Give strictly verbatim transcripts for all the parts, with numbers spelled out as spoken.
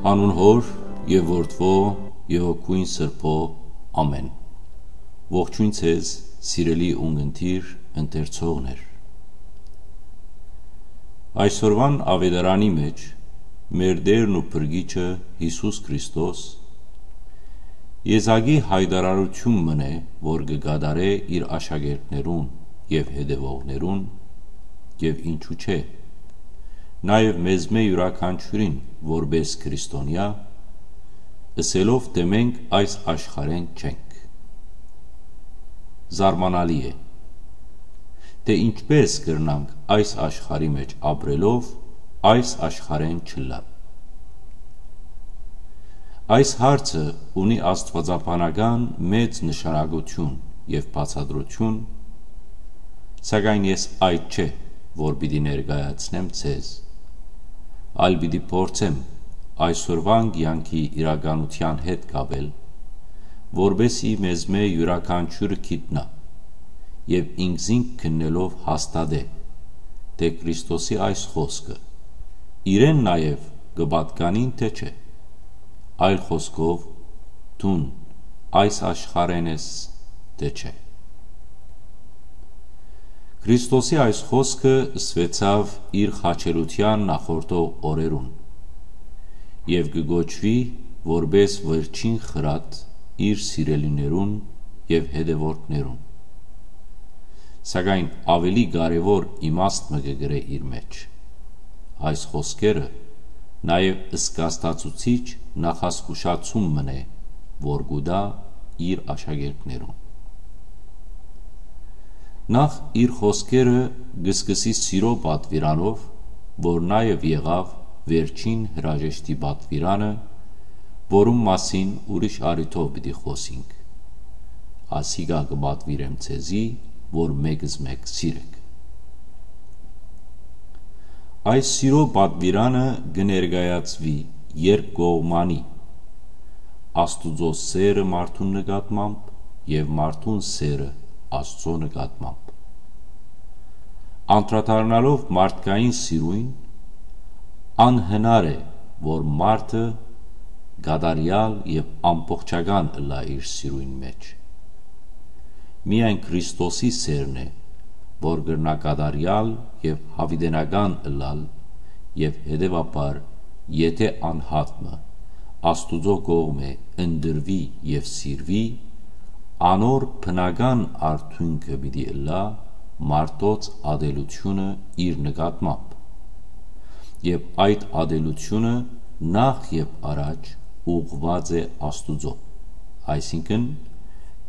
Անուն Հօր եւ Որդւոյ եւ Հոգիին Սրբոյ, ամէն։ Ողջոյն ձեզ, սիրելի ունգընտիր ընթերցողներ։ Այսօրուան աւետարանի մէջ մեր Տէրն ու Փրկիչը Յիսուս Քրիստոս եզակի յայտարարութիւն մըն է, որ կը կատարէ իր աշակերտներուն եւ հետեւողներուն, եւ ինչու՞ չէ, նաեւ մեզմէ իւրաքանչիւրին որպէս քրիստոնեայ, ըսելով թէ մենք այս աշխարհէն չենք։ Զարմանալի է, թէ ինչպէս կրնանք այս աշխարհի մէջ ապրելով այս աշխարհէն չըլլալ։ Այս հարցը ունի աստուածաբանական մեծ նշանակութիւն եւ բացատրութիւն, սակայն ես այդ չէ, որ պիտի ներկայացնեմ ձեզ, այլ պիտի փորձեմ այսօրուան կեանքի իրականութեան հետ կապել, որպէս զի մեզմէ իւրաքանչիւրը գիտնայ եւ ինքզինք քննելով հաստատէ, թէ Քրիստոսի այս խօսքը իրեն նաեւ կը պատկանին թէ չէ, այլ խօսքով, դուն այս աշխարհէն ես թէ չէ։ Քրիստոսի այս խօսքը ըսուեցաւ իր խաչելութեան նախորդող օրերուն եւ կը կոչուի որպէս վերջին խրատ իր սիրելիներուն եւ հետեւորդներուն։ Սակայն աւելի կարեւոր իմաստ մը կը կրէ իր մէջ։ Այս խօսքերը նաեւ զգաստացուցիչ նախազգուշացում մըն է, որ կու տայ իր աշակերտներուն։ Նախ իր խօսքերը կը սկսի սիրոյ պատուիրանով, որ նաեւ եղաւ վերջին հրաժեշտի պատուիրանը, որուն մասին ուրիշ առիթով պիտի խօսինք։ Ասիկա կը պատուիրեմ ձեզի, որ մէկզմէկ սիրէք։ Այս սիրոյ պատուիրանը կը ներկայացուի երկկողմանի, Աստուծոյ սէրը մարդուն նկատմամբ եւ մարդուն սէրը Աստուծոյ նկատմամբ։ Անդրադառնալով մարդկային սիրոյն, անհնար է, որ մարդը կատարեալ եւ ամբողջական ըլլայ իր սիրոյն մէջ։ Միայն Քրիստոսի սէրն է, որ կրնայ կատարեալ եւ յաւիտենական ըլլալ, եւ հետեւաբար, եթէ անհատ մը Աստուծոյ կողմէ ընտրուի եւ սիրուի, անոր բնական արդիւնքը պիտի ըլլայ մարդոց ատելութիւնը իր նկատմամբ։ Եւ այդ ատելութիւնը նախ եւ առաջ ուղղուած է Աստուծոյ։ Այսինքն,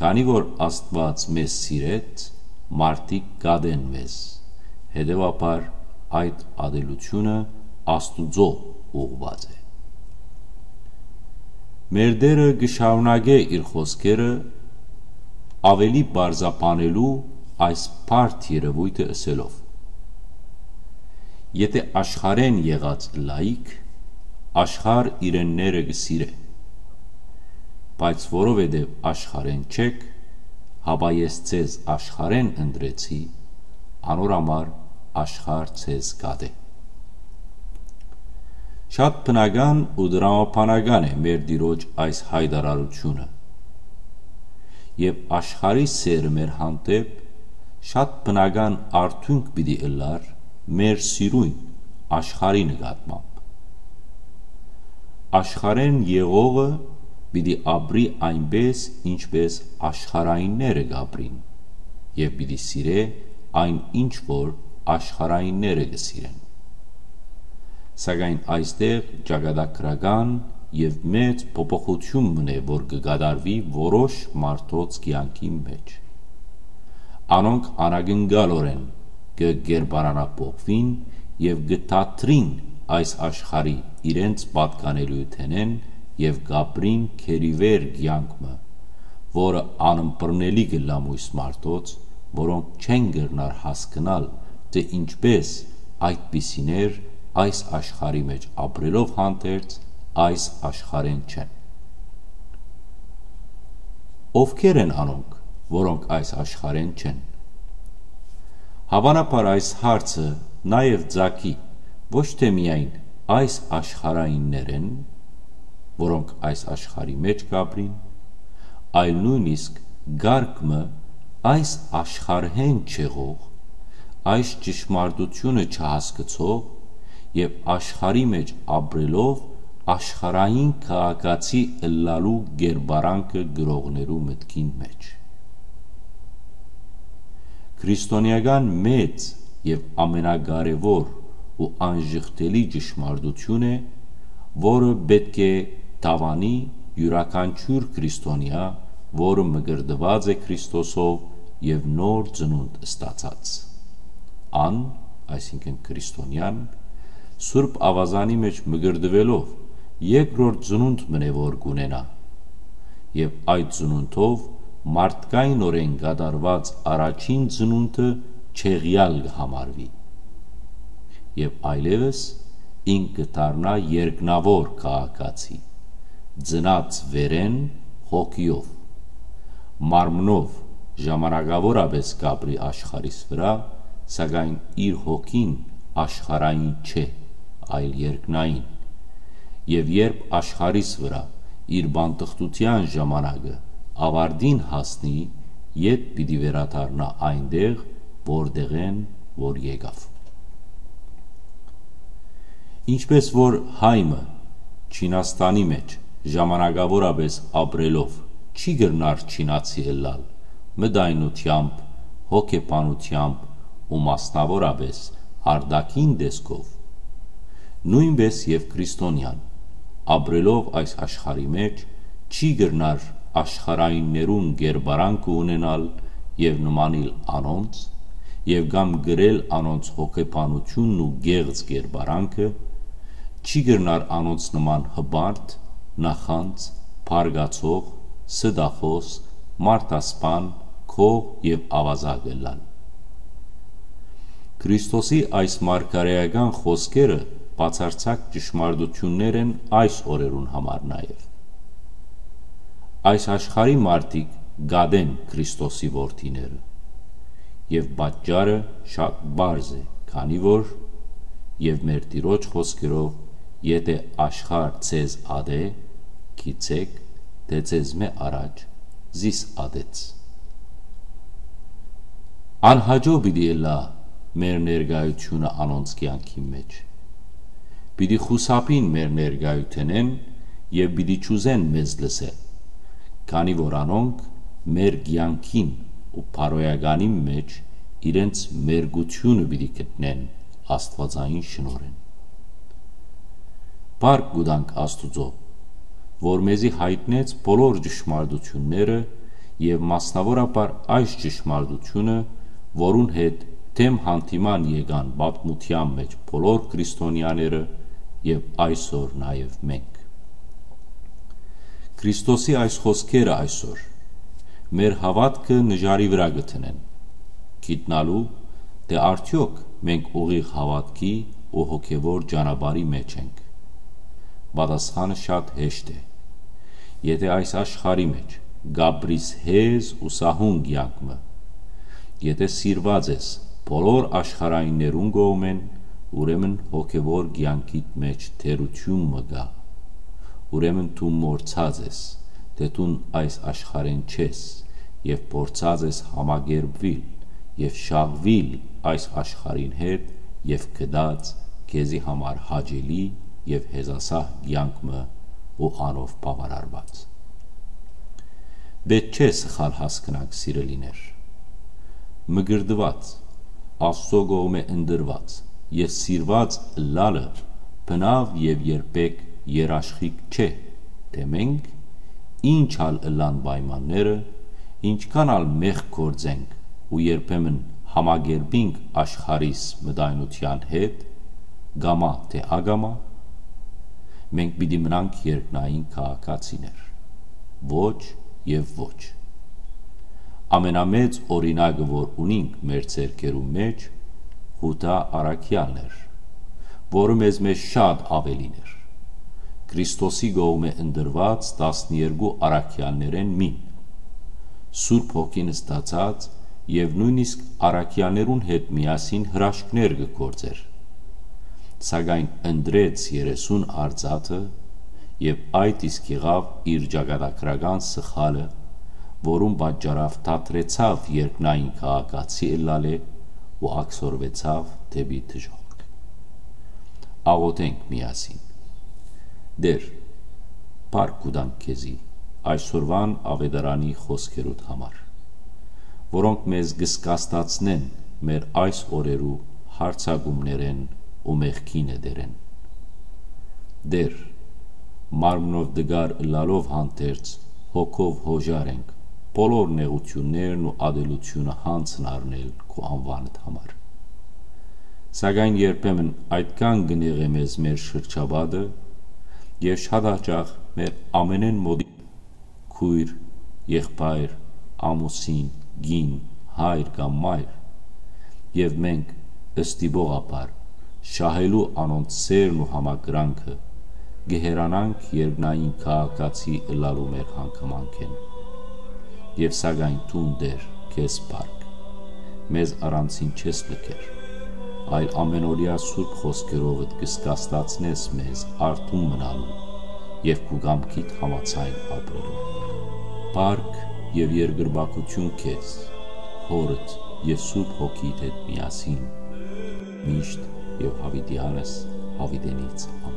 քանի որ Աստուած մեզ սիրեց, մարդիկ կատեն մեզ, հետեւաբար այդ ատելութիւնը Աստուծոյ ուղղուած է։ Մեր Տէրը կը շարունակէ իր խօսքերը աւելի պարզաբանելու այս բարդ երեւոյթը ըսելով. «Եթէ աշխարհէն եղած ըլլայիք, աշխարհ իրենները կը սիրէ։ Բայց որովհետեւ աշխարհէն չէք, հապա ես ձեզ աշխարհէն ընտրեցի, անոր համար աշխարհ ձեզ կատէ»։ Շատ բնական ու տրամաբանական է մեր Տիրոջ այս յայտարարութիւնը։ Եւ աշխարհի սէրը մեր հանդէպ շատ բնական արդիւնք պիտի ըլլար մեր սիրոյն աշխարհի նկատմամբ։ Աշխարհէն եղողը պիտի ապրի այնպէս, ինչպէս աշխարհայինները կ'ապրին, եւ պիտի սիրէ այն, ինչ որ աշխարհայինները կը սիրեն։ Սակայն այստեղ ճակատագրական եւ մեծ փոփոխութիւն մըն է, որ կը կատարուի որոշ մարդոց կեանքին մէջ։ Անոնք անակնկալօրէն կը կերպարանափոխուին եւ կը դադրին այս աշխարհի իրենց պատկանելիութենէն եւ կ'ապրին գերիվեր կեանք մը, որը անըմբռնելի կ'ըլլայ մոյս մարդոց, որոնք չեն կրնար հասկնալ, թէ ինչպէս այդպիսիներ այս աշխարհի մէջ ապրելով հանդերձ այս աշխարհէն չեն։ Ովքեր են անոնք, որոնք այս աշխարհէն չեն։ Հաւանաբար այս հարցը նաեւ ծագի ոչ թէ միայն այս աշխարհայիններէն, որոնք այս աշխարհի մէջ կ'ապրին, այլ նոյնիսկ կարգ մը այս աշխարհէն չեղող, այս ճշմարտութիւնը չհասկցող եւ աշխարհի մէջ ապրելով աշխարհային քաղաքացի ըլլալու կերպարանքը գրողներու մտքին մէջ։ Քրիստոնեական մեծ եւ ամենակարեւոր ու անժխտելի ճշմարտութիւն է, որը պէտք է դաւանի իւրաքանչիւր քրիստոնեայ, որը մկրտուած է Քրիստոսով եւ նոր ծնունդ ստացած։ Ան, այսինքն՝ քրիստոնեան, Սուրբ Աւազանի մէջ մկրտուելով, երկրորդ ծնունդ մըն է որ կ'ունենայ, եւ այդ ծնունդով մարդկայինօրէն կատարուած առաջին ծնունդը չեղեալ կը համարուի, եւ այլեւս ինք կը դառնայ երկնաւոր քաղաքացի, ծնած վերէն հոգիով, մարմնով ժամանակաւորապէս կ'ապրի աշխարհիս վրայ, սակայն իր հոգին աշխարհային չէ, այլ երկնային։ Եւ երբ աշխարհիս վրայ իր բանտխտութեան ժամանակը աւարտին հասնի, յետ պիտի վերադառնայ այնտեղ, որտեղէն որ եկաւ։ Ինչպէս որ հայ մը Չինաստանի մէջ ժամանակաւորապէս ապրելով չի կրնար չինացի ըլլալ մտայնութեամբ, հոգեբանութեամբ ու մասնաւորապէս արտաքին տեսքով, նոյնպէս եւ քրիստոնեան, ապրելով այս աշխարհի մէջ, չի կրնար աշխարհայիններուն կերպարանքը ունենալ եւ նմանիլ անոնց, եւ կամ կրել անոնց հոգեբանութիւնն ու կեղծ կերպարանքը, չի կրնար անոնց նման հպարտ, նախանձ, բարկացող, ստախոս, մարդասպան, գող եւ աւազակ ըլլալ։ Քրիստոսի այս մարգարէական խօսքերը բացարձակ ճշմարտութիւններ են այս օրերուն համար նաեւ։ Այս աշխարհի մարդիկ կ'ատեն Քրիստոսի որդիները, եւ պատճառը շատ պարզ է, քանի որ, եւ մեր Տիրոջ խօսքերով, եթէ աշխարհ ձեզ ատէ, գիտցէք, թէ ձեզմէ առաջ զիս ատեց։ Անհաճոյ պիտի ըլլայ մեր ներկայութիւնը անոնց կեանքին մէջ։ Պիտի խուսափին մեր ներկայութենէն եւ պիտի չուզեն մեզ լսել, քանի որ անոնք մեր կեանքին ու բարոյականին մէջ իրենց մերկութիւնը պիտի գտնեն աստուածային շնորհէն։ Փառք կու տանք Աստուծոյ, որ մեզի յայտնեց բոլոր ճշմարտութիւնները եւ մասնաւորաբար այս ճշմարտութիւնը, որուն հետ դէմ յանդիման եկան պատմութեան մէջ բոլոր քրիստոնեաները եւ այսօր նաեւ մենք։ Քրիստոսի այս խօսքերը այսօր մեր հաւատքը նժարի վրայ կը դնեն, գիտնալու թէ արդեօք մենք ուղիղ հաւատքի ու հոգեւոր ճանապարհի մէջ ենք։ Պատասխանը շատ հեշտ է։ Եթէ այս աշխարհի մէջ կ'ապրիս հեզ ու սահուն կեանք մը, եթէ սիրուած ես բոլոր աշխարհայիններուն կողմէն, ուրեմն հոգեւոր կեանքիդ մէջ թերութիւն մը կայ։ Ուրեմն դուն մոռցած ես, թէ դուն այս աշխարհէն չես, եւ փորձած ես համակերպուիլ եւ շահուիլ այս աշխարհին հետ եւ գտած քեզի համար հաճելի եւ հեզասահ կեանք մը ու անով բաւարարուած։ Պէտք չէ սխալ հասկնանք, սիրելիներ։ Մկրտուած, Աստուծոյ կողմէ ընտրուած եւ սիրուած ըլլալը բնաւ եւ երբեք երաշխիք չէ, թէ մենք, ինչ ալ ըլլան պայմանները, ինչքան ալ մեղք գործենք ու երբեմն համակերպինք աշխարհիս մտայնութեան հետ, կամայ թէ ակամայ, մենք պիտի մնանք երկնային քաղաքացիներ։ Ոչ եւ ոչ։ Ամենամեծ օրինակը, որ ունինք մեր ձեռքերու մէջ, Յուդա առաքեալն էր, որը մեզմէ շատ աւելին էր։ Քրիստոսի կողմէ ընտրուած տասներկու առաքեալներէն մին, Սուրբ Հոգին ստացած եւ նոյնիսկ առաքեալներուն հետ միասին հրաշքներ կը գործէր, սակայն ընտրեց երեսուն արծաթը Եւ այդ իսկ եղաւ իր ճակատագրական սխալը, որուն պատճառաւ դադրեցաւ երկնային քաղաքացի ըլլալէ ու ակսորուեցաւ դէպի դժոխք։ Աղօթենք միասին։ Տէր, փառք կու տանք քեզի այսօրուան աւետարանի խօսքերուդ համար, որոնք մեզ կը զգաստացնեն մեր այս օրերու յարձակումներէն ու մեղքի նետերէն։ Տէր, մարմնով տկար ըլլալով հանդերձ, հոգով յօժար ենք բոլոր նեղութիւններն ու ատելութիւնը յանձն առնել քու անուանդ համար։ Սակայն երբեմն այդքան կը նեղէ մեզ մեր շրջապատը եւ շատ հաճախ մեր ամենէն մօտիկ քոյր, եղբայր, ամուսին, կին, հայր կամ մայր, եւ մենք, ստիպողաբար, շահելու անոնց սէրն ու համակրանքը, կը հեռանանք երկնային քաղաքացի ըլլալու մեր հանգամանքէն։ Եւ սակայն դուն, Տէր, քեզ փառք, մեզ առանցին չես լքեր, այլ ամենօրեայ սուրբ խօսքերովդ կը զգաստացնես մեզ արթուն մնալու եւ քու կամքիդ համաձայն ապրելու։ Փառք եւ երկրպագութիւն քեզ, Հօրդ եւ Սուրբ Հոգիդ հետ միասին, միշտ եւ յաւիտեանս յաւիտենից։